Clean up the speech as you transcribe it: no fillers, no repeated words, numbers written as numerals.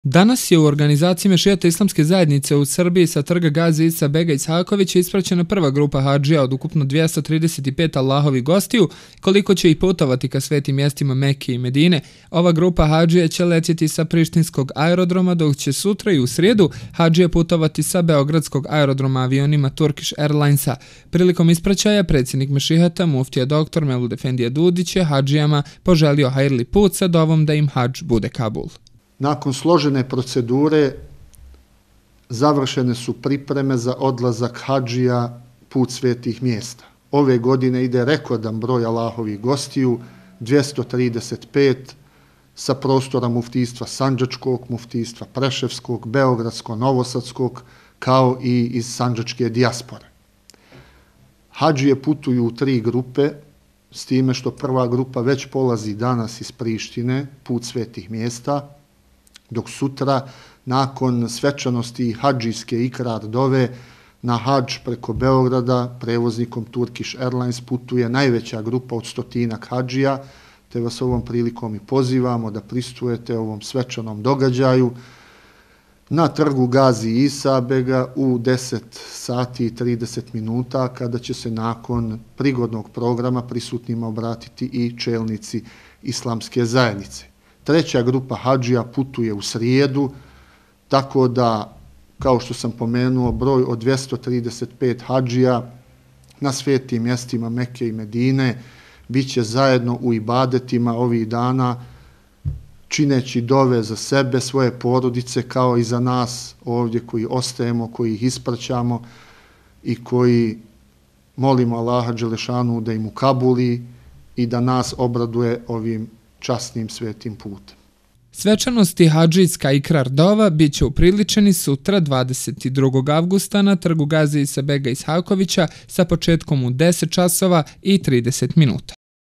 Danas je u organizaciji Mešijata islamske zajednice u Srbiji sa trga Gazi Isa Bega Ishakovića ispraćena prva grupa hadžija od ukupno 235 Allahovih gostiju. Koliko će ih putovati ka svetim mjestima Mekke i Medine, ova grupa hadžija će letjeti sa prištinskog aerodroma, dok će sutra i u srijedu hadžije putovati sa beogradskog aerodroma avionima Turkish Airlinesa. Prilikom ispraćaja predsjednik Mešihata muftija dr. Mevlud Efendija Dudić je hadžijama poželio hajrli put sa dovom da im hadž bude Kabul. Nakon složene procedure završene su pripreme za odlazak hadžija put svetih mjesta. Ove godine ide rekordan broj Allahovih gostiju, 235 sa prostora muftijstva Sandžačkog, muftijstva Preševskog, Beogradskog, Novosadskog, kao i iz sandžačke dijaspore. Hadžije putuju u 3 grupe, s time što prva grupa već polazi danas iz Prištine, put svetih mjesta, dok sutra, nakon svečanosti hadžijske ikrar dove, na hadž preko Beograda prevoznikom Turkish Airlines putuje najveća grupa od 100-ak hadžija, te vas ovom prilikom i pozivamo da prisustvujete ovom svečanom događaju na trgu Gazi Isa Bega u 10 sati i 30 minuta, kada će se nakon prigodnog programa prisutnima obratiti i čelnici islamske zajednice. Treća grupa hadžija putuje u srijedu, tako da, kao što sam pomenuo, broj od 235 hadžija na svetim mjestima Mekke i Medine bit će zajedno u ibadetima ovih dana, čineći dove za sebe, svoje porodice, kao i za nas ovdje koji ostajemo, koji ih ispraćamo i koji molimo Allaha dželešanu da im ukabuli i da nas obraduje ovim časnim svetim putem. Svečanosti hadžijska ikrar dova bit će upriličeni sutra 22. avgusta na trgu Gazi Isa Bega Ishakovića sa početkom u 10 časova i 30 minuta.